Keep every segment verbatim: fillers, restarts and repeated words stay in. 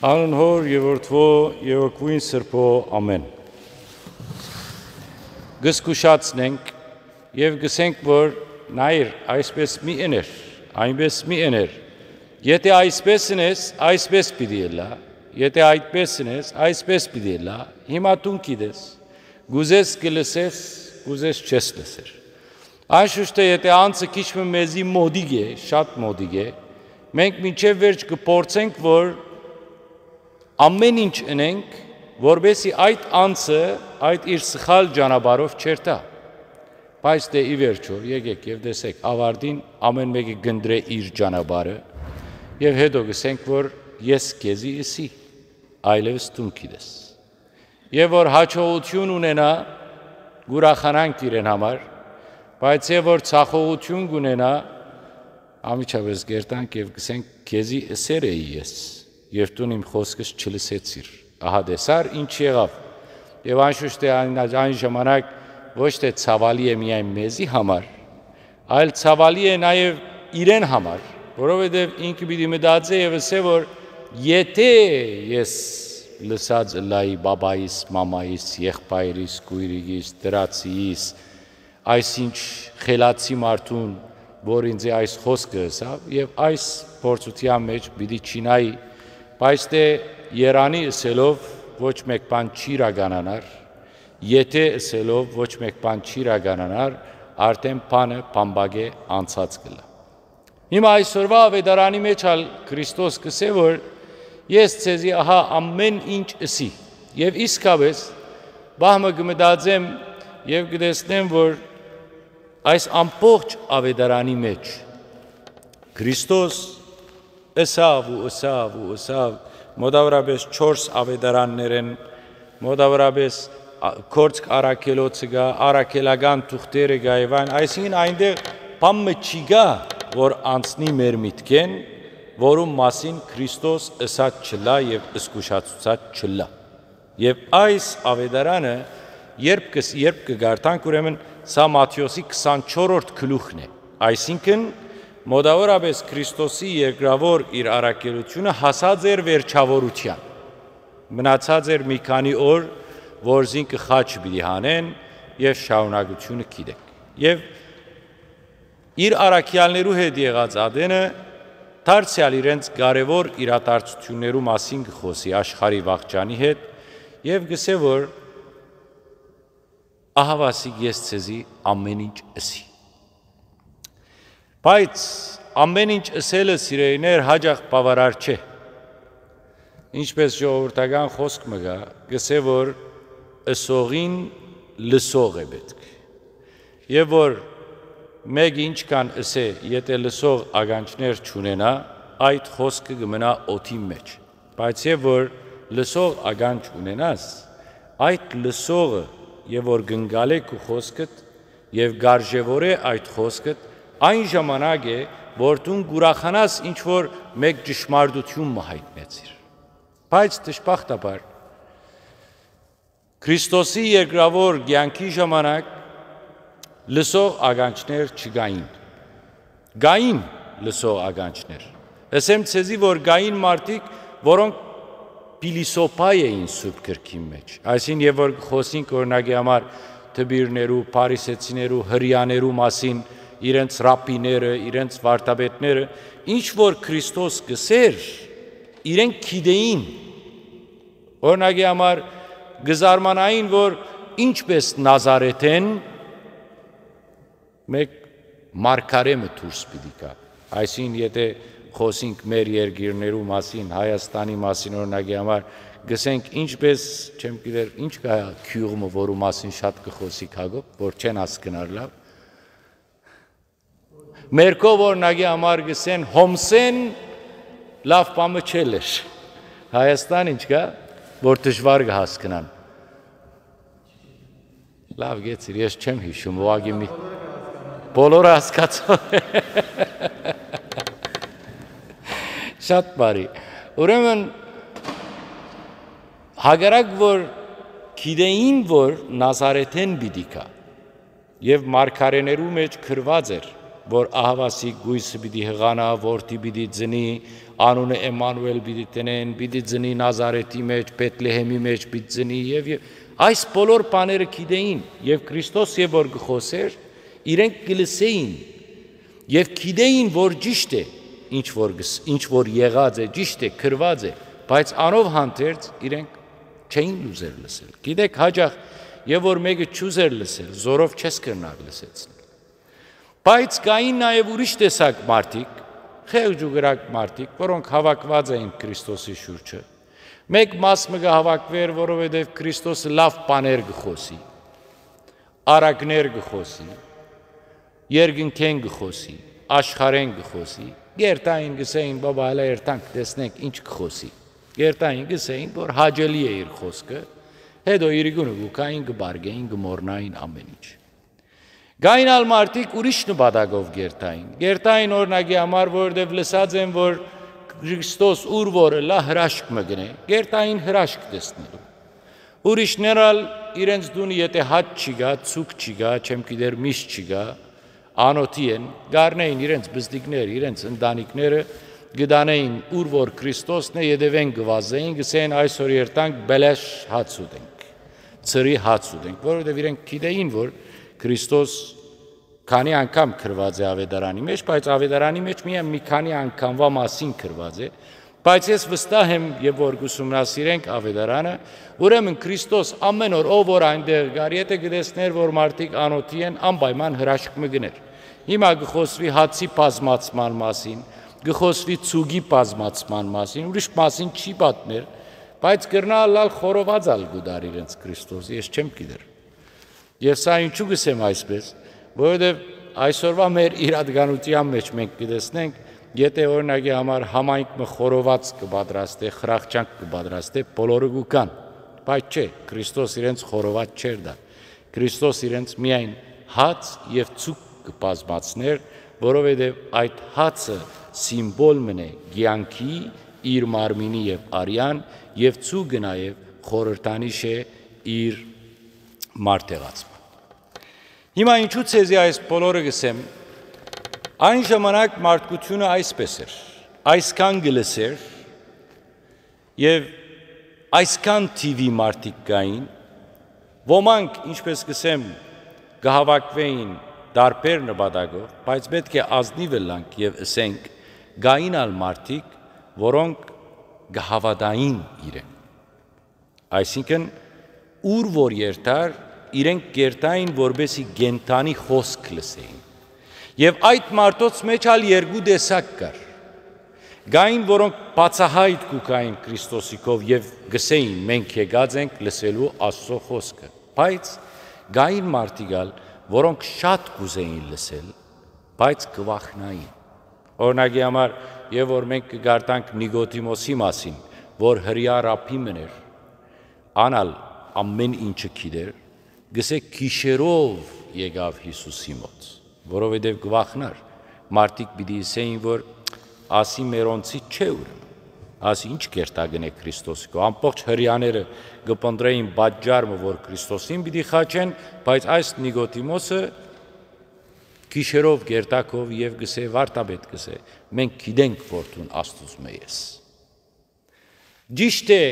Անուն Հօր եւ Որդուոյ եւ Հոգւոյն Սրբոյ, ամէն։ Կ'զգուշացնենք եւ կ'ըսենք, որ նայիր, այսպես մի ըներ, այնպես մի ըներ։ Եթե այսպես ընես, այսպես պիտի ըլլայ, եթե այդպես ընես, այսպես պիտի ըլլայ, հիմա դուն գիտես, կ'ուզես կը լսես, կ'ուզես չես լսեր։ Անշուշտ է, եթե անձը քիչ մը մեզի մօտիկ է, շատ մօտիկ է, մենք մինչեւ վերջ կը փորձենք, որ ամէն ինչ ընենք, որպեսզի այդ անձը այդ իր սխալ ճանապարհով չերթայ։ Բայց դե ի վերջոյ, եկեք եւ տեսեք, աւարտին ամէն մէկը կ'ընտրէ իր ճանապարհը, եւ հետո կ'ըսենք, որ ես քեզի ըսի, այլեւս դուն գիտես։ Եւ որ յաջողութիւն ունենայ, կ'ուրախանանք իրեն համար, բայց եւ որ ցախողութիւն կ'ունենայ, անմիջապէս կ'երթանք եւ կ'ըսենք, քեզի ըսեր էի ես, եւ դուն իմ խօսքս չլսեցիր։ Ահա տեսար, ինչ եղաւ։ Եւ անշուշտ է այն, այն ժամանակ ոչ թէ ցաւալի է միայն մեզի համար, այլ ցաւալի է նաեւ իրեն համար, որովհետեւ ինքը պիտի մտածէ եւ ըսէ, որ եթե ես լսած ըլլայի պապայիս, մամայիս, եղբայրիս, քոյրիկիս, դրացիիս, այսինչ խելացի մարդուն, որ ինձ այս խօսքը ըսաւ, եւ այս փորձութեան մէջ պիտի չիյնայի, բայց դե երանի ըսելով ոչ մէկ բան չի իրականանար, եթե ըսելով ոչ մէկ բան չի իրականանար, արդէն բանը բամբակէ անցած կ'ըլլայ։ Հիմա այսօրուայ աւետարանի մէջ ալ Քրիստոս կ'ըսէ, որ ես ձեզի ահա ամէն ինչ ըսի։ Եւ իսկապէս, պահ մը կը մտածեմ եւ կը տեսնեմ, որ այս ամբողջ աւետարանի մէջ Քրիստոս ըսաւ ու ըսաւ ու ըսաւ, մոտաւորապէս չորս աւետարաններէն, մոտաւորապէս ա-, Գործք առաքելոցը կայ, առաքելական թուղթերը կայ եւ այն, այսինքն այնտեղ բան մը չի կայ, որ անցնի մեր միտքէն, որուն մասին Քրիստոս ըսած չըլլայ եւ զգուշացուցած չըլլայ։ Եւ այս աւետարանը, երբ կս-, երբ կը կարդանք, ուրեմն սա Մատթէոսի քսանչորրորդ գլուխն է, այսինքն մոտաւորապէս Քրիստոսի երկրաւոր իր առաքելութիւնը հասած էր վերջաւորութեան։ Մնացած էր մի քանի օր, որ զինքը խաչը պիտի հանեն եւ շարունակությունը գիտենք։ Եւ իր առաքեալներու հետ եղած ատենը դարձեալ իրենց կարեւոր իրադարձութիւններու մասին կը խօսի աշխարհի վաղճանի հետ եւ կ'ըսէ, որ ահա ասիկ ես ձեզի ամէն ինչ ըսի։ Բայց ամէն ինչ ըսելը, սիրելիներ, յաճախ բաւարար չէ։ Ինչպէս ժողովրդական խօսք մը կայ, կ'ըսէ, որ ըսողին լսող է պէտք։ Եւ որ մէկը ինչքան ըսէ, եթէ լսող ականջներ չունենայ, այդ խօսքը կը մնայ օդին մէջ։ Բայց եւ որ լսող ականջ ունենաս, այդ լսողը եւ որ կ'ընկալէ քու խօսքդ եւ կ'արժեւորէ այդ խօսքդ, այն ժամանակ է, որ դուն կ'ուրախանաս ինչ որ մէկ ճշմարտութիւն մը յայտնեցիր։ Բայց դժբախտաբար, Քրիստոսի երկրաւոր կեանքի ժամանակ լսող ականջներ չկային։ Կային լսող ականջներ։ Ըսեմ ձեզի, որ կային մարդիկ, որոնք փիլիսոփայ էին Սուրբ Գրքին մէջ։ Այսինքն, եւ որ կը խօսենք, օրինակի համար, դպիրներու, փարիսեցիներու, հրեաներու մասին, իրենց ռաբիները, իրենց վարդապետները, ինչ որ Քրիստոս կ'ըսէր, իրենք գիտեին։ Օրինակի համար, կը զարմանային, որ ինչպէս Նազարեթէն մէկ մարգարէ մը դուրս պիտի գայ։ Այսինքն, եթէ խօսենք մեր երկիրներու մասին, Հայաստանի մասին, օրինակի համար, կ'ըսենք, ինչպէս, չեմ գիտեր, ինչ կայ գիւղ մը, որու մասին շատ կը խօսի Հակոբ, որ չեն հասկնար լաւ։ Մերկով, օրինակի համար, կ'ըսեն, Հոմսէն լաւ բան մը չէ լեր։ Հայաստան ինչ կայ, որ դժուար կը հասկնան։ Լաւ գեցիր, ես չեմ յիշում, ուղղակի մի-, բոլորը հասկացան։ Շատ բարի։ Ուրեմն, հակառակ որ գիտեին, որ Նազարեթէն պիտի գայ, եւ մարգարէներու մէջ գրուած էր, որ ահաւասիկ կոյսը պիտի յղանայ, որդի պիտի ծնի, անունը Էմմանուէլ պիտի դնեն, պիտի ծնի Նազարեթի մէջ, Բեթլեհէմի մէջ պիտի ծնի եւ, եւ այս բոլոր բաները գիտէին եւ Քրիստոս երբ որ կը խօսէր, իրենք կը լսէին եւ գիտէին որ ճիշդ է, ինչ որ գս-, ինչ որ եղած է, ճիշդ է, գրուած է, բայց անով հանդերձ իրենք չէին ուզեր լսել։ Գիտեք, հաճախ երբ որ մէկը չուզեր լսել, զորով չես կրնար լսեցնել։ Բայց կային նաեւ ուրիշ տեսակ մարդիկ, խեղճ ու կրակ մարդիկ, որոնք հաւաքուած էին Քրիստոսի շուրջը։ Մէկ մաս մը կը հաւաքուէր, որովհետեւ Քրիստոսը լաւ բաներ կը խօսի, առակներ կը խօսի, երկնքէն կը խօսի, աշխարհէն կը խօսի, կ'երթային, կ'ըսէին, բաբա, հլը երթանք, տեսնենք ինչ կը խօսի։ Կ'երթային, կ'ըսէին, որ հաճելի է իր խօսքը, հետո իրիկունը կու գային, կը պարկէին, կը մոռնային ամէն ինչ։ Կային ալ մարդիկ ուրիշ նպատակով կ'երթային։ Կ'երթային, օրինակի համար, որովհետեւ լսած են, որ Քրիստոս ուր որ ըլլայ, հրաշք մը կ'ընէ, կ'երթային հրաշք տեսնելու։ Ուրիշներ ալ իրենց տունը եթէ հաց չի գայ, ցուկ չի գայ, չեմ գիտեր, միս չի գայ, անօթի են, կ'առնէին իրենց պզտիկները, իրենց ընտանիքները, կը տանէին ուր որ Քրիստոսն է, ետեւէն կը վազէին, կ'ըսէին, այսօր երթանք, բելեշ հաց ուտենք, ծրի հաց ուտենք, որովհետեւ իրենք գիտէին, որ Քրիստոս քանի՞ անգամ գրուած է Աւետարանի մէջ, բայց Աւետարանի մէջ միայն մի քանի անգամուայ մասին գրուած է, բայց ես վստահ եմ, երբ որ կ'ուսումնասիրենք Աւետարանը, ուրեմն Քրիստոս ամէն օր, ով որ այնտեղ կար, եթէ կը տեսնէր, որ մարդիկ անօթի են, անպայման հրաշք մը կ'ընէր։ Հիմա կը խօսուի հացի բազմացման մասին, կը խօսուի ցուկի բազմացման մասին, ուրիշ մասին չի պատմեր, բայց կրնայ ըլլալ խորոված ալ կու տար իրենց Քրիստոս, ես չեմ գիտեր։ Եւ սա ինչու կ'ըսեմ այսպես, որովհետեւ այսօրուայ մեր իրատեանութեան մէջ մենք կը տեսնենք, եթէ օրինակի համար համայնք մը խորոված կը պատրաստէ, խրախճանք կը պատրաստէ, բոլորը կու գան, բայց չէ, Քրիստոս իրենց խորոված չէր տար։ Քրիստոս իրենց միայն հաց եւ ցուկ կը բազմացնէր, որովհետեւ այդ հացը սիմվոլ մըն է կեանքի, իր մարմինի եւ արեան, եւ ցուկը նաեւ խորհրդանիշ է իր մարդեղացման։ Հիմա ինչու ձեզի այս բոլորը կ'ըսեմ, այն ժամանակ մարդկութիւնը այսպես էր, այսքան կը լսէր եւ այսքան թիւի մարդիկ կային, ոմանք, ինչպես կ'ըսեմ, կը հաւաքուէին տարբեր նպատակով, բայց պէտք է ազնիվ ըլլանք եւ ըսենք, կային ալ մարդիկ, որոնք կը հաւատային իրեն։ Այսինքն, ուր որ երթար, իրենք կ'երթային, որպեսզի կենդանի խօսք լսեին։ Եւ այդ մարդոց մէջ ալ երկու տեսակ կար։ Կային, որոնք բացահայտ կու գային Քրիստոսի քով եւ կ'ըսէին, «Մենք եկած ենք լսելու Աստծո խօսքը»։ Բայց կային մարդիկ ալ, որոնք շատ կ'ուզէին լսել, բայց կը վախնային։ Օրինակի համար, երբ որ մենք կը կարդանք Նիկոդիմոսի մասին, որ հրեայ ռաբբի մըն էր, ան ալ ամէն ինչը գիտեր, կ'ըսէ, գիշերով եկաւ Յիսուսի մօտ, որովհետեւ կը վախնար, մարդիկ պիտի ըսէին, որ ասի մերոնցի չէ ուրեմն, ասի ինչ կերտա կ'ընէ Քրիստոսի քով, ամբողջ հրեաները կը փնտռէին պատճառ մը, որ Քրիստոսին պիտի խաչեն, բայց այս Նիկոդիմոսը գիշերով կերտա քով եւ կ'ըսէ, վարդապետ, կ'ըսէ, մենք գիտենք, որ դուն Աստուծմէ ես։ Ճիշդ է,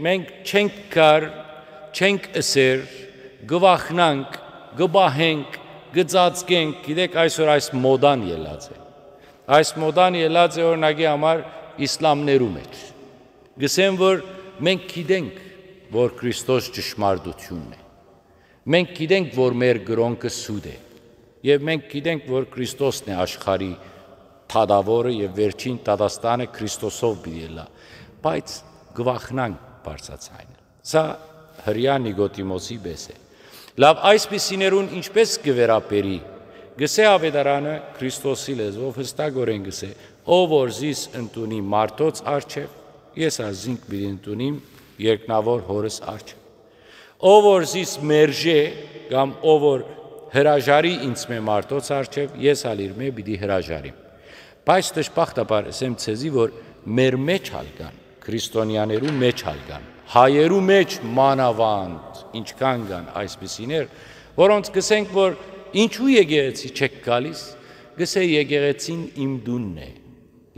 մենք չենք կար, չենք ըսեր, կը վախնանք, կը պահենք, կը ծածկենք, գիտեք, այսօր այս մոդան ելած է։ Այս մոդան ելած է, օրինակի համար, իսլամներու մէջ։ Կ'ըսեմ, որ մենք գիտենք, որ Քրիստոս ճշմարտությունն է։ Մենք գիտենք, որ մեր կրօնքը սուտ է, եւ մենք գիտենք, որ Քրիստոսն է աշխարհի թագաւորը եւ վերջին դատաստանը Քրիստոսով պիտի ելլայ, բայց կը վախնանք բարձրաձայնել։ Սա հրեայ Նիկոդիմոսի պէս է։ Լաւ, այսպիսիներուն ինչպէս կը վերաբերի, կ'ըսէ Աւետարանը Քրիստոսի լեզուով, յստակօրէն կ'ըսէ, «Ով որ զիս ընդունի մարդոց առջեւ, ես ալ զինք պիտի ընդունիմ երկնաւոր Հօրս առջեւ»։ Ով որ զիս մերժէ, կամ ով որ հրաժարի ինձմէ մարդոց առջեւ, ես ալ իրմէ պիտի հրաժարիմ։ Բայց դժբախտաբար ըսեմ ձեզի, որ մեր մէջ ալ կան, քրիստոնեաներու մէջ ալ կան, հայերու մէջ մանաւանդ ինչքան կան այսպիսիներ, որոնց կ'ըսենք, որ ինչու եկեղեցի չեք գալիս, Կ'ըսէ, եկեղեցին իմ տունն է,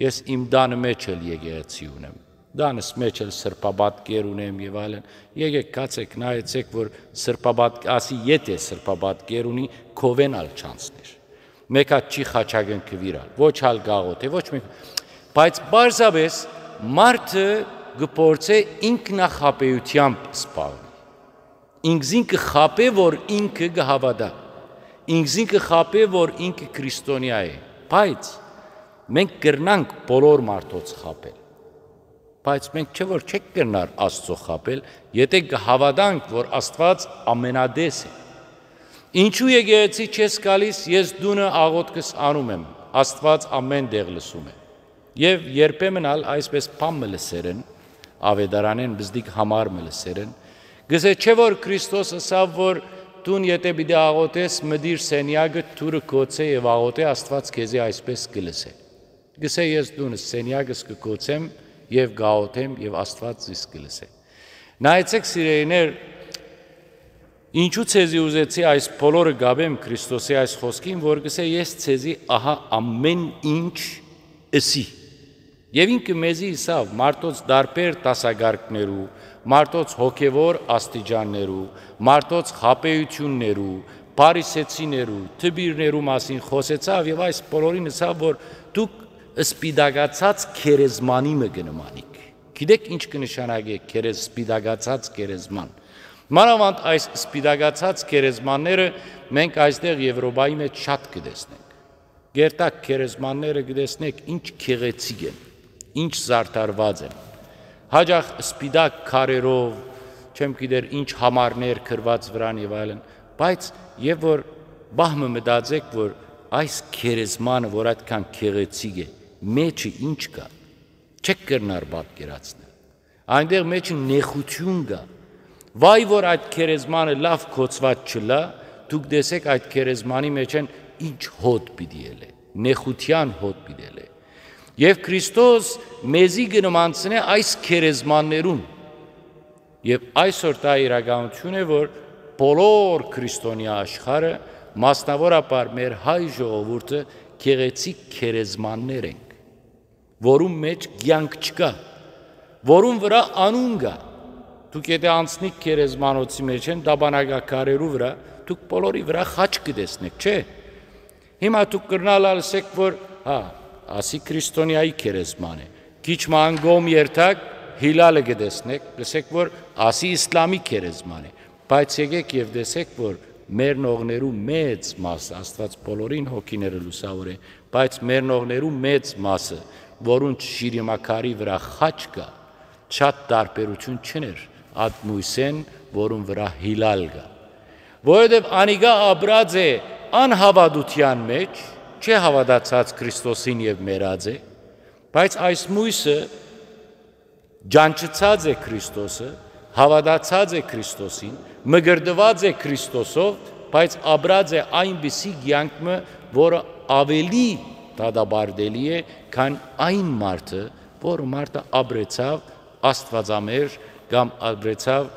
ես իմ տանը մէջ էլ եկեղեցի ունեմ, տանս մէջ էլ սրբապատկեր ունեմ եւ այլն։ Եկէք գացէք, նայեցէք, որ սրբապատ-, ասի եթէ սրբապատկեր ունի, քովէն ալ չանցներ։ Մէկ հատ չի խաչակնկուիր ալ, ոչ ալ գաղութ է, ոչ մէկ, բայց պարզապէս մարդը կը փորձէ ինքնախաբէությամբ զբաղվի։ Ինքզին կը խաբէ, որ ինքը կը հաւատայ, ինքզին կը խաբէ, որ ինքը քրիստոնեայ է, բայց մենք կրնանք բոլոր մարդոց խաբել, բայց մենք չէ՞ որ չենք կրնար Աստծո խաբել, եթէ կը հաւատանք, որ Աստուած ամենատես է։ Ինչու եկեղեցի չես գալիս, ես տունը աղոթքս անում եմ, Աստուած ամեն տեղ լսում է։ Եւ երբեմն ալ այսպես բան մը լսեր են, աւետարանէն բզդիկ համար մը լսեր են, կ'ըսէ, չէ՞ որ Քրիստոս ըսաւ, որ դուն եթէ պիտի աղոթես, մտիր սենեակը, դուռը գոցէ եւ աղոթէ, Աստուած քեզի այսպես կը լսէ։ Կ'ըսէ, ես տունս, սենեակս կը գոցեմ եւ կ'աղոթեմ եւ Աստուած զիս կը լսէ։ Նայեցէք, սիրելիներ, ինչու ձեզի ուզեցի այս բոլորը գաբեմ Քրիստոսի այս խօսքին, որ կ'ըսէ, ես ձեզի ահա ամեն ինչ ըսի։ Եւ ինքը մեզի ըսաւ մարդոց տարբեր դասակարգներու, մարդոց հոգեվոր աստիճաններու, մարդոց խաբեություններու, փարիսեցիներու, դպիրներու մասին խօսեցաւ եւ այս բոլորին ըսաւ, որ դուք սպիտակացած գերեզմանի մը կը նմանիք։ Գիտէք ինչ կը նշանակէ գերեզ-, սպիտակացած գերեզման։ Մանաւանդ այս սպիտակացած գերեզմանները մենք այստեղ Եվրոպայի մէջ շատ կը տեսնենք։ Գերտակ գերեզմանները կը տեսնեք ինչ գեղեցիկ են, ինչ զարդարված են։ Հաճախ սպիտակ քարերով, չեմ գիտեր ինչ համարներ գրված վրան եւ այլն, բայց եւ որ պահ մը մտածեք, որ այս գերեզմանը, որ այդքան գեղեցիկ է, մեջը ինչ կայ, չեք կրնար պատկերացնել։ Այնտեղ մեջը նեղություն կայ։ Վայ որ այդ գերեզմանը լաւ գոցուած չըլլայ, դուք տեսէք այդ գերեզմանի մէջէն ինչ հոտ պիտի ելլէ, նեղութեան հոտ պիտի ելլէ։ Եւ Քրիստոս մեզի կը նմանցնէ այս գերեզմաններուն։ Եւ այսօր դա իրականութիւն է, որ բոլոր քրիստոնեայ աշխարհը, մասնաւորաբար մեր հայ ժողովուրդը, գեղեցիկ գերեզմաններ ենք, որուն մէջ կեանք չկայ, որուն վրայ անուն կայ։ Դուք եթէ անցնիք գերեզմանոցի մէջէն, տապանակաքարերու վրայ, դուք բոլորի վրայ խաչ կը տեսնէք, չէ՞։ Հիմա դուք կրնալ ալ ըսեք, որ, հա, ասի քրիստոնեայի գերեզման է։ Քիչ մը անկողմ երթաք, հիլալը կը տեսնեք, կ'ըսեք, որ ասի իսլամի գերեզման է։ Բայց եկեք եւ տեսեք, որ մեռնողներու մեծ մասը, Աստուած բոլորին հոգիները լուսաւորէ, բայց մեռնողներու մեծ մասը, որուն շիրիմաքարի վրայ խաչ կայ, շատ տարբերութիւն չուներ այդ Մույսէն, որուն վրայ հիլալ կայ։ Որովհետեւ անիկա ապրած է անհաւատութեան մէջ, չէ հաւատացած Քրիստոսին եւ մեռած է, բայց այս Մույսը ճանչցած է Քրիստոսը, հաւատացած է Քրիստոսին, մկրտուած է Քրիստոսով, բայց ապրած է այնպիսի կեանք մը, որը աւելի դատապարտելի է, քան այն մարդը, որ մարդը ապրեցաւ աստուածամերժ կամ ապրեցաւ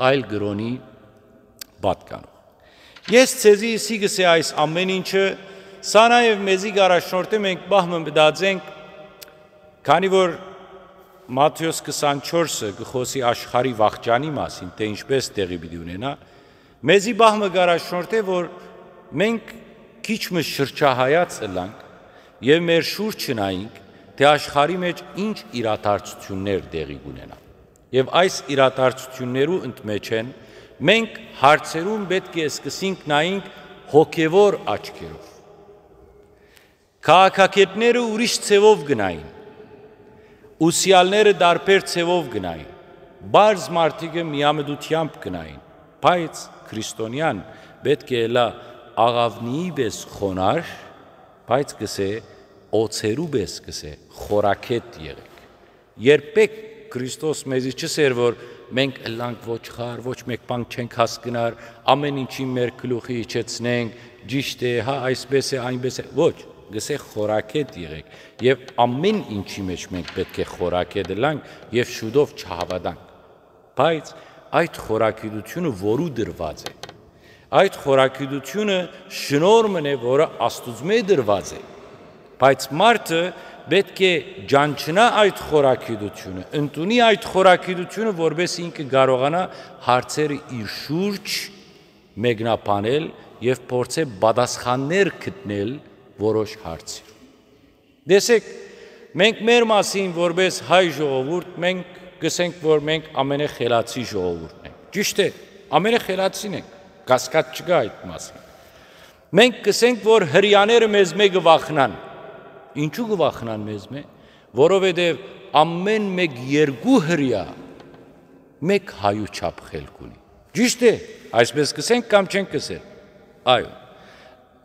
այլ կրօնի պատկանող։ Ես ձեզի ըսի կ'ըսէ այս ամեն ինչը, սա նաեւ մեզի կ'առաջնորդէ մենք պահ մը մտածենք, քանի որ Մատթէոս քսանչորսը կը խօսի աշխարհի վախճանի մասին, թէ ինչպէս տեղի պիտի ունենայ, մեզի պահ մը կ'առաջնորդէ, որ մենք քիչ մը շրջահայաց ըլլանք եւ մեր շուրջը նայենք, թէ աշխարհի մէջ ինչ իրադարձութիւններ տեղի կ'ունենան։ Եւ այս իրադարձութիւններու ընդմէջէն մենք հարցերուն պէտք է սկսենք նայենք հոգեվոր աչքերով։ Քաղաքագէտները ուրիշ ձեւով կը նային, ուսեալները տարբեր ձեւով կը նային, պարզ մարդիկը միամտությամբ կը նային, բայց քրիստոնեան պէտք է ըլլայ աղաւնիի պէս խոնար, բայց կ'ըսէ, օձերու պէս կ'ըսէ, խորագէտ եղէք։ Երբեք Քրիստոս մեզի չ'ըսէր, որ մենք ըլլանք ոչխար, ոչ մէկ բան չենք հասկնար, ամեն ինչին մեր գլուխի իջեցնենք, ճիշդ է, հա, այսպես է, այնպես է։ Ոչ, կ'ըսէ, խորագէտ եղէք, եւ ամեն ինչի մէջ մենք պէտք է խորագէտ ըլլանք եւ շուտով չհաւատանք։ Բայց այդ խորագիտությունը որու դրուած է, Այդ խորագիտութիւնը շնորհ մըն է, որը Աստուծմէ տրուած է, բայց մարդը պէտք է ճանչնայ այդ խորագիտութիւնը, ընդունի այդ խորագիտութիւնը, որպէս ինքը կարողանայ հարցերը իր շուրջ մեկնաբանել եւ փորձէ պատասխաններ գտնել որոշ հարցեր։ Տեսեք, մենք մեր մասին, որպէս հայ ժողովուրդ, մենք կ'ըսենք, որ մենք ամենախելացի ժողովուրդն ենք։ Ճիշդ է, ամենախելացին ենք, կասկած չկայ այդ մասին։ Մենք կ'ըսենք, որ հրեաները մեզմէ կը վախնան։ Ինչու կը վախնան մեզմէ? Որովհետեւ ամէն մէկ երկու հրեայ մէկ հայու չափ խելք ունի։ Ճիշդ է, այսպես կ'ըսենք կամ չենք կ'ըսել։ Այո։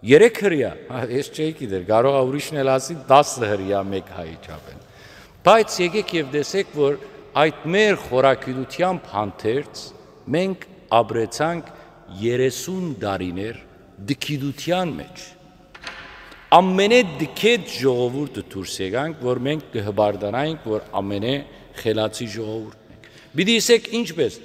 Երեք հրեայ, հա, ես չէի գիտեր, կարող է ուրիշն էլ ասի, տասը հրեայ մէկ հայի չափ են։ Բայց եկեք եւ տեսեք, որ այդ մեր խորագիտութեամբ հանդերձ մենք ապրեցանք երեսուն տարիներ դքիդութեան մէջ։ Ամենէ դքետ ժողովուրդը դուրս եկանք, որ մենք կը հպարտանայինք, որ ամենէ խելացի ժողովուրդն ենք։ Պիտի ըսեք ինչպես,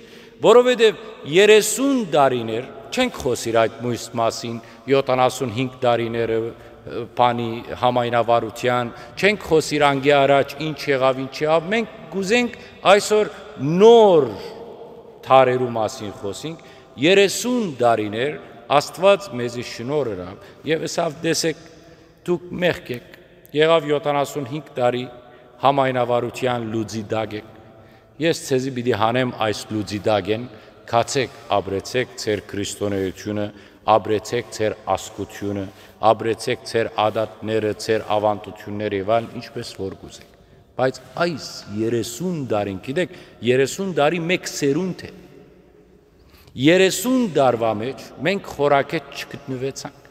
որովհետեւ երեսուն տարիներ, չենք խօսիր այդ մոյս մասին, յոթանասունհինգ տարիները, ը, բանի համայնավարութեան, չենք խօսիր անկէ առաջ ինչ եղաւ, ինչ եղաւ, մենք կ'ուզենք այսօր նոր դարերու մասին խօսինք, երեսուն տարիներ Աստուած մեզի շնորհ ըրաւ եւ ըսաւ. «Տեսեք, դուք մեղք եք, եղաւ յոթանասունհինգ տարի համայնավարութեան լուծի տակ եք, ես ձեզի պիտի հանեմ այս լուծի տակէն, գացեք, ապրեցեք ձեր քրիստոնէութիւնը, ապրեցեք ձեր ազգութիւնը, ապրեցեք ձեր ադատները, ձեր աւանդութիւնները եւ այլն, ինչպես որ կ'ուզեք»։ Բայց այս երեսուն տարին, գիտեք, երեսուն տարի մէկ սերունդ է։ Երեսուն տարուա մէջ մենք խորագէտ չգտնուեցանք։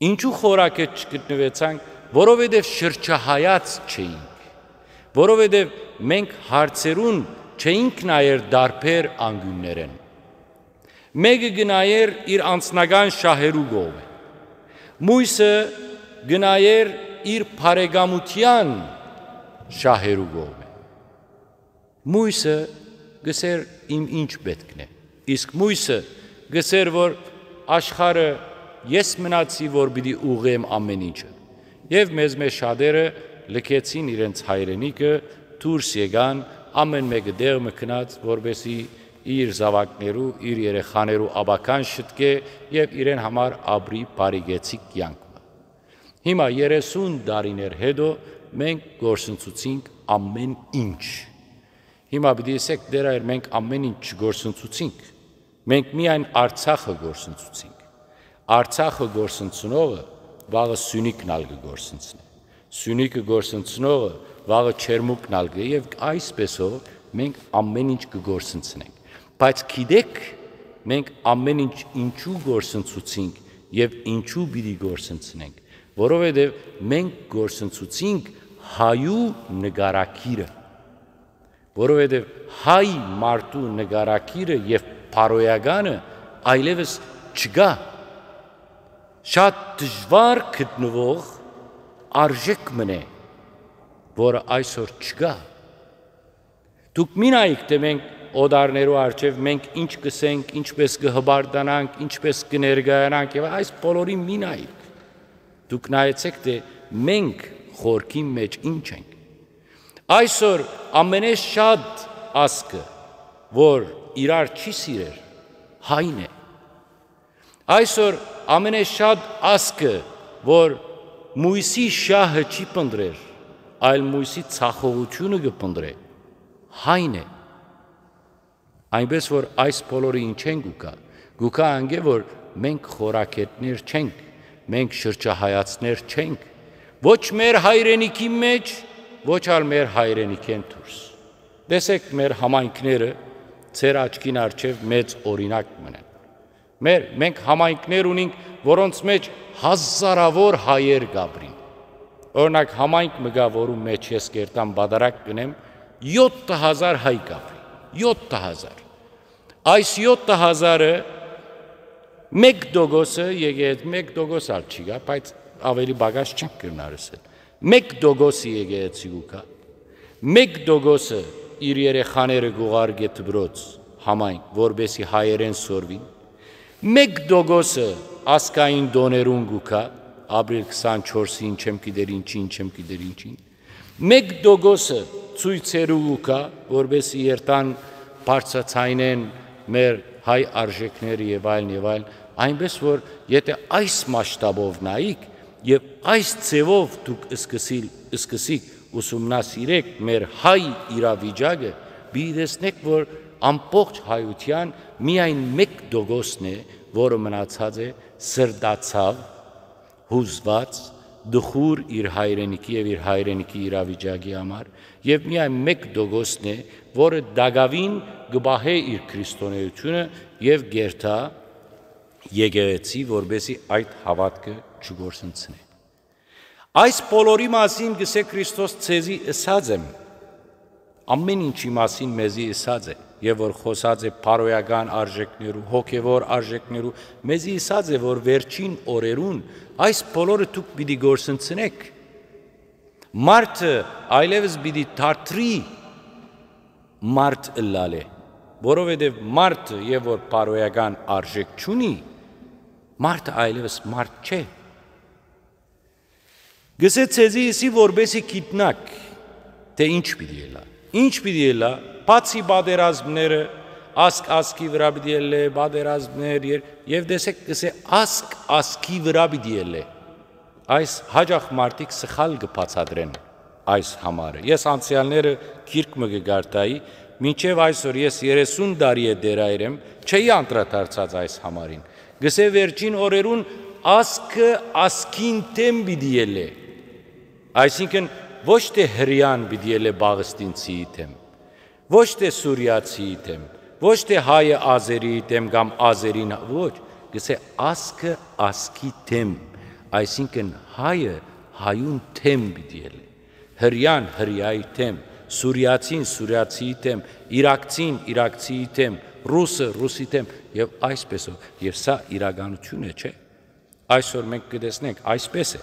Ինչու խորագէտ չգտնուեցանք, որովհետեւ շրջահայաց չէինք, որովհետեւ մենք հարցերուն չէինք նայեր տարբեր անկիւններէն։ Մէկը կը նայեր իր անձնական շահերու կողմը, մոյսը կը նայեր իր բարեկամութեան շահերու կողմը։ Մոյսը կ'ըսէր. «Իմ ինչ պէտքն է»։ Իսկ մոյսը կ'ըսէր, որ «Աշխարհը ես մնացի, որ պիտի ուղղեմ ամէն ինչը»։ Եւ մեզմէ շատերը լքեցին իրենց հայրենիքը, դուրս եկան, ամէն մէկը տեղ մը գնաց, որպէսզի իր զաւակներու, իր երեխաներու ապագան շտկէ եւ իրեն համար ապրի բարիգեցիկ կեանք մը։ Հիմա երեսուն տարիներ յետոյ մենք կորսնցուցինք ամէն ինչ։ Հիմա պիտի ըսեք. «Տէր Հայր, մենք ամէն ինչ չկորսնցուցինք, մենք միայն Արցախը կորսնցուցինք»։ Արցախը կորսնցնողը վաղը Սիւնիքն ալ կը կորսնցնէ։ Սիւնիքը կորսնցնողը վաղը Չերմուկն ալ կը, եւ այսպեսով մենք ամէն ինչ կը կորսնցնենք։ Բայց գիտեք, մենք ամէն ինչ ինչու կորսնցուցինք եւ ինչու պիտի կորսնցնենք, որովհետեւ մենք կորսնցուցինք հայու նկարագիրը, որովհետեւ հայ մարդու նկարագիրը եւ բարոյականը այլեւս չկայ։ Շատ դժուար գտնուող արժէք մըն է, որը այսօր չկայ։ Դուք մի նայեք, թէ մենք օտարներու առջեւ մենք ինչ կ'ըսենք, ինչպես կը հպարտանանք, ինչպես կը ներկայանանք, եւ այս բոլորին մի նայեք։ Դուք նայեցէք, թէ մենք խորքին մէջ ինչ ենք։ Այսօր ամենէ շատ ազգը, որ իրար չի սիրեր, հայն է։ Այսօր ամենէ շատ ազգը, որ մոյսի շահը չի փնտռեր, այլ մոյսի ցախողութիւնը կը փնտռէ, հայն է։ Այնպէս որ այս բոլորը ինչէն կու գայ, կու գայ անկէ, որ մենք խորագէտներ չենք, մենք շրջահայացներ չենք, ոչ մեր հայրենիքի մէջ, ոչ ալ մեր հայրենիքէն դուրս։ Տեսեք մեր համայնքները, ձեր աչքին առջեւ մեծ օրինակ մըն են։ Մեր, մենք համայնքներ ունենք, որոնց մէջ հազարավոր հայեր կ'ապրին։ Օրինակ, համայնք մը կայ, որու մէջ ես կերտամ պատարագ կ'ընեմ, յոթ հազար հայ կ'ապրի, յոթ հազար։ Այս յոթ հազարը, մէկ տոկոսը, եկեղեցի, մէկ տոկոս ալ չի գայ, բայց ավելի պակաս չենք կրնար ըսել։ Մէկ տոկոսը եկեղեցի կու գայ, մէկ տոկոսը իր երեխաները կ'ուղարկէ դպրոց, համայն, որպեսզի հայերէն սորվին։ Մէկ տոկոսը ազգային տօներուն կու գայ, ապրիլ քսանչորսին, չեմ գիտեր ինչին, չեմ գիտեր ինչին։ Մէկ տոկոսը ցոյցերու կու գայ, որպեսզի երթան բարձրաձայնեն մեր հայ արժեքները եւ այլն եւ այլն, այնպես որ եթե այս մասշտաբով նայիք եւ այս ձեւով դուք սկսիլ-, սկսիք ուսումնասիրեք մեր հայ իրավիճակը, պիտի տեսնեք, որ ամբողջ հայութեան միայն մէկ տոկոսն է, որը մնացած է սրտացաւ, յուզուած, տխուր իր հայրենիքի եւ իր հայրենիքի իրավիճակի համար, եւ միայն մէկ տոկոսն է, որը տակաւին կը պահէ իր քրիստոնէությունը եւ կերթայ եկեղեցի, որպեսզի այդ հաւատքը չկորսնցնէ։ Այս բոլորի մասին կ'ըսէ Քրիստոս. «Ձեզի ըսած եմ», ամէն ինչի մասին մեզի ըսած է, եւ որ խօսած է բարոյական արժեքներու, հոգեւոր արժեքներու, մեզի ըսած է, որ վերջին օրերուն այս բոլորը դուք պիտի կորսնցնէք։ Մարդը այլեւս պիտի դարդրի մարդ ըլլալէ, որովհետեւ մարդը, եւ որ բարոյական արժեք չունի, մարդը այլեւս մարդ չէ։ Կ'ըսէ. «Ձեզի ըսի, որպեսզի գիտնաք, թէ ինչ պիտի ելլայ»։ Ինչ պիտի ելլայ, բացի պատերազմները, ազգ ազգի վրայ պիտի ելլէ, պատերազմներ, եր-, եւ տեսեք, կ'ըսէ, ազգ ազգի վրայ պիտի ելլէ։ Այս հաճախ մարդիկ սխալ կը բացատրեն այս համարը։ Ես անցեալները գիրք մը կը կարդայի, մինչեւ այսօր ես երեսուն տարի է դեռ այր եմ, չէի անդրադարձած այս համարին։ Կ'ըսէ. «Վերջին օրերուն ազգը ազգին դէմ պիտի ելլէ»։ Այսինքն, ոչ թէ հրեան պիտի ելլէ պաղեստինցիի դէմ, ոչ թէ սուրիացիի դէմ, ոչ թէ հայը ազերիի դէմ կամ ազերին, ոչ, կ'ըսէ. «Ազգը ազգի դէմ», այսինքն, հայը հայուն դէմ պիտի ելլէ, հրեան հրեայի դէմ, սուրիացին սուրիացիի դէմ, իրաքցին իրաքցիի դէմ, ռուսը ռուսի դէմ, եւ այսպեսով, եւ սա իրականություն է, չէ՞։ Այսօր մենք կը տեսնենք, այսպես է։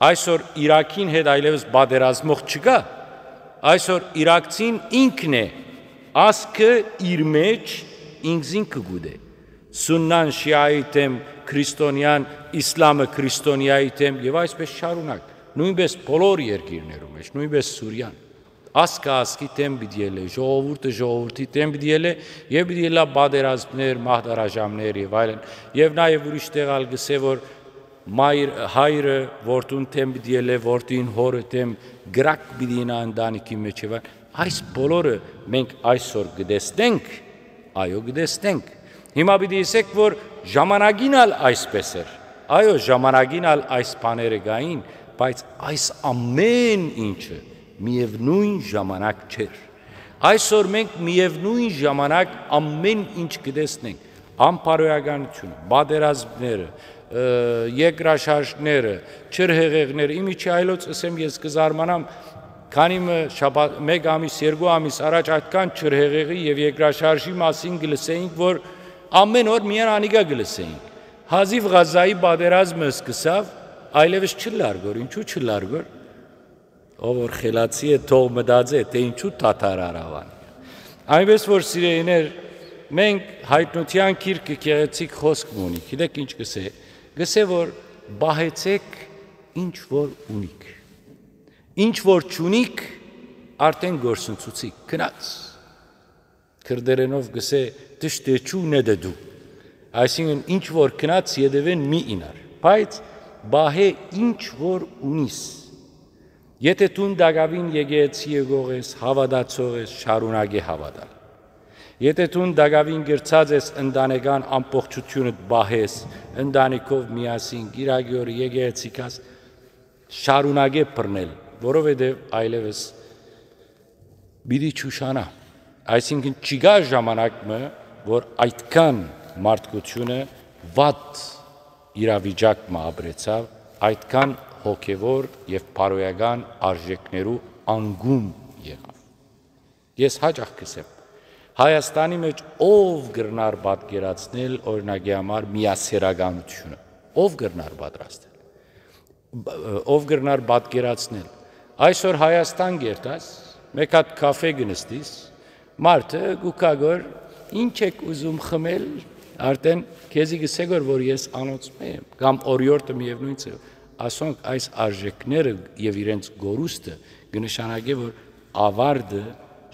Այսօր Իրաքին հետ այլևս պատերազմող չկայ։ Այսօր իրաքցին ինքն է, ազգը իր մեջ ինքզին կը գուտէ։ Սուննան շիայի դէմ, քրիստոնեան, իսլամը քրիստոնեայի դէմ, եւ այսպես շարունակ։ Նոյնպես բոլոր երկիրներու մեջ, նոյնպես Սուրիան։ Ազգը ազգի դէմ պիտի ելլէ, ժողովուրդը ժողովրդի դէմ պիտի ելլէ, եւ պիտի ելլայ պատերազմներ, մահդարաժամներ եւ այլն։ Եւ նաեւ ուրիշ տեղ ալ կ'ըսէ, որ մայր-, հայրը որդուն դէմ պիտի ելլէ, որդին հորը դէմ, կրակ պիտի ըլլայ ընտանիքի մեջ եւ այլն։ Այս բոլորը մենք այսօր կը տեսնենք, այո, կը տեսնենք։ Հիմա պիտի ըսեք, որ ժամանակին ալ այսպես էր։ Այո, ժամանակին ալ այս բաները կային, բայց այս ամէն ինչը միեւնոյն ժամանակ չէր։ Այսօր մենք միեւնոյն ժամանակ ամէն ինչ կը տեսնենք. անբարոյականությունը, պատերազմները, ը, երկրաշարժները, ջրհեղեղները, իմիջի այլոց ըսեմ, ես կը զարմանամ, քանի մը շաբաթ, մէկ ամիս, երկու ամիս առաջ այդքան ջրհեղեղի եւ երկրաշարժի մասին կը լսեինք, որ ամէն օր միայն անիկա կը լսեինք։ Հազիւ Ղազայի պատերազմը սկսաւ, այլեւս չլարգոր, ինչու չլարգոր։ Ով որ խելացի է, թող մտածէ, թէ ինչու թաթար արաւան։ Այնպես որ, սիրելիներ, մենք Հայտնութեան գիրքը գեղեցիկ խօսք մը ունի, գիտեք ինչ կ'ըսէ, կ'ըսէ, որ պահեցեք ինչ որ ունիք, ինչ որ չունիք, արդեն գործընծուցիք, գնաց։ Քրտերենով կ'ըսէ. «Դշտեչու նետը դու»։ Այսինքն, ինչ որ գնաց, ետևէն մի իյնար, բայց պահէ ինչ որ ունիս։ Եթէ դուն տակաւին եկեղեցի եկող ես, հաւատացող ես, շարունակէ հաւատալ։ Եթէ դուն տակաւին կրցած ես ընտանեկան ամբողջությունդ պահես, ընտանիքով միասին, կիրակի օրը եկեղեցի գաս, շարունակէ բռնել, որովհետեւ այլեւս պիտի չուշանայ։ Այսինքն, չկայ ժամանակ մը, որ այդքան մարդկությունը վատ իրավիճակ մը ապրեցաւ, այդքան հոգեւոր եւ բարոյական արժեքներու անկում եղաւ։ Ես հաճախ կ'ըսեմ, Հայաստանի մեջ ով կրնար պատկերացնել, օրինակի համար, միասեռականությունը, ով կրնար պատրաստել, բ-, ով կրնար պատկերացնել։ Այսօր Հայաստան կերտաս, մէկ հատ քաֆէ կը նստիս, մարդը կու գա գոր Ինչ եք ուզում խմել, արդեն քեզի կ'ըսէ որ, որ ես անոնցմէ եմ, կամ օրիորդը միևնույն ձեւ։ Ասոնք այս արժեքները եւ իրենց կորուստը կը նշանակէ, որ ավարտը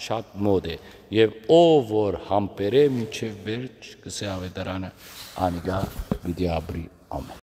շատ մօտ է, եւ ով որ համբերէ մինչեւ վերջ, կ'ըսէ Աւետարանը, անիկա պիտի ապրի ամէն։